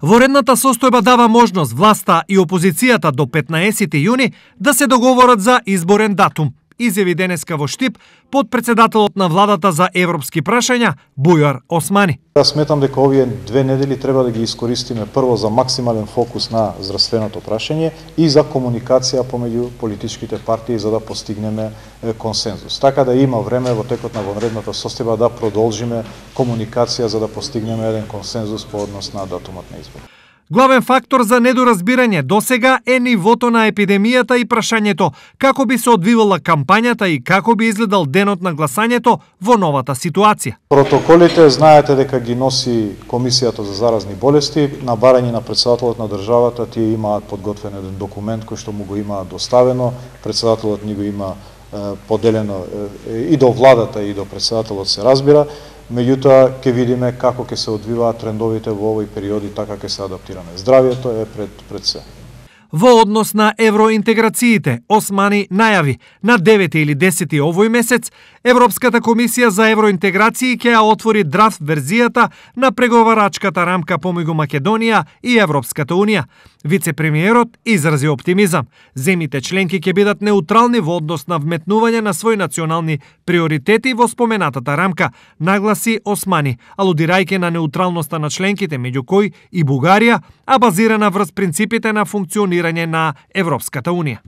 Во редната состојба дава можност власта и опозицијата до 15 јуни да се договорат за изборен датум, изјави денеска во Штип подпредседателот на владата за европски прашања Бујар Османи. Јас сметам дека овие 2 недели треба да ги искористиме прво за максимален фокус на здравственото прашање и за комуникација помеѓу политичките партии за да постигнеме консензус. Така да има време во текот на вонредната состојба да продолжиме комуникација за да постигнеме еден консензус по однос на датумот на избор. Главен фактор за недоразбирање досега е нивото на епидемијата и прашањето како би се одвивала кампањата и како би изгледал денот на гласањето во новата ситуација. Протоколите знаете дека ги носи Комисијата за заразни болести. На барање на председателот на државата тие имаат подготвен еден документ кој што му го имаат доставено. Председателот ни го има поделено и до владата и до председателот се разбира. Меѓутоа, ќе видиме како ќе се одвиваат трендовите во овој период и така ќе се адаптираме. Здравието е пред се. Во однос на евроинтеграциите, Османи најави на 9 или 10 овој месец Европската комисија за евроинтеграции ќе ја отвори драфт верзијата на преговарачката рамка помеѓу Македонија и Европската унија. Вице-премиерот изрази оптимизам. Земјите членки ќе бидат неутрални во однос на вметнување на своји национални приоритети во споменатата рамка, нагласи Османи, алудирајќи на неутралноста на членките, меѓу кои и Бугарија, а базирана врз принципите на функционирање на Европската унија.